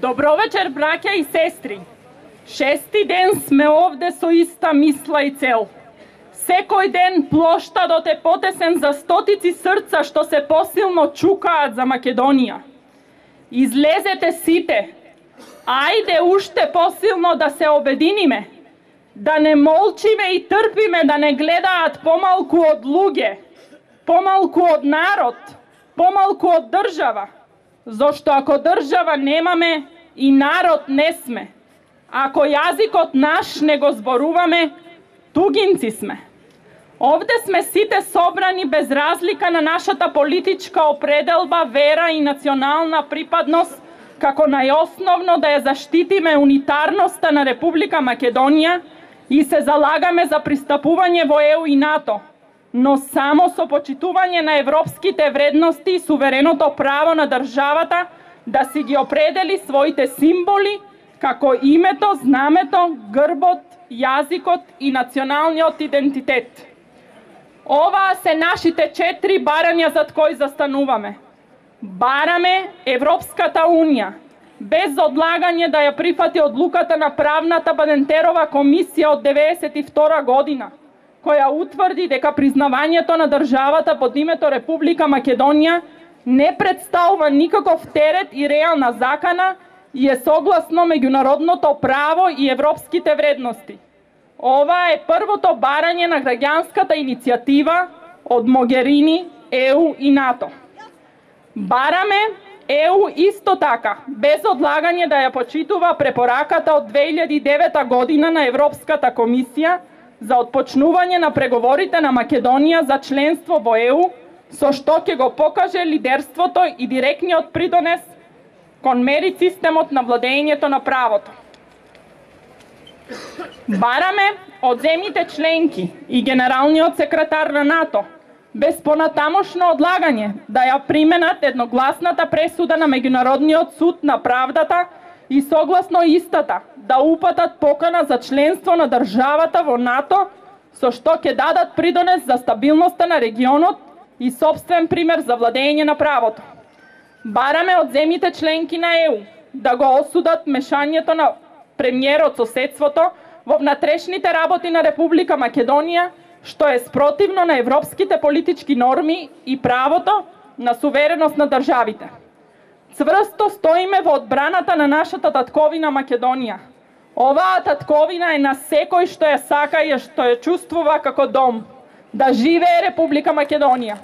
Добро вечер, браќа и сестри. Шести ден сме овде со иста мисла и цел. Секој ден плоштадот е потесен за стотици срца што се посилно чукаат за Македонија. Излезете сите. Ајде уште посилно да се обединиме. Да не молчиме и трпиме да не гледаат помалку од луѓе, помалку од народ, помалку од држава. Зошто ако држава немаме, и народ не сме. Ако јазикот наш не го зборуваме, тугинци сме. Овде сме сите собрани без разлика на нашата политичка определба, вера и национална припадност, како најосновно да ја заштитиме унитарноста на Република Македонија и се залагаме за пристапување во ЕУ и НАТО, но само со почитување на европските вредности и сувереното право на државата да си ги определи своите символи, како името, знамето, грбот, јазикот и националниот идентитет. Оваа се нашите 4 барања зад кои застануваме. Бараме Европската Унија, без одлагање да ја прифати одлуката на правната Бадентерова комисија од 1992 година, која утврди дека признавањето на државата под името Република Македонија не представува никаков терет и реална закана и е согласно меѓународното право и европските вредности. Ова е првото барање на граѓанската иницијатива од Могерини, ЕУ и НАТО. Бараме ЕУ исто така, без одлагање да ја почитува препораката од 2009 година на Европската комисија за отпочнување на преговорите на Македонија за членство во ЕУ, со што ќе го покаже лидерството и директниот придонес кон мерит системот на владењето на правото. Бараме од земјите членки и генералниот секретар на НАТО без понатамошно одлагање да ја применат едногласната пресуда на Меѓународниот суд на правдата и согласно истата да упатат покана за членство на државата во НАТО, со што ќе дадат придонес за стабилноста на регионот и собствен пример за владење на правото. Бараме од земјите членки на ЕУ да го осудат мешањето на премиерот соседството во внатрешните работи на Република Македонија, што е спротивно на европските политички норми и правото на сувереност на државите. Цврсто стоиме во одбраната на нашата татковина Македонија. Оваа татковина е на секој што ја сака и што ја чувствува како дом. Да живее Република Македонија!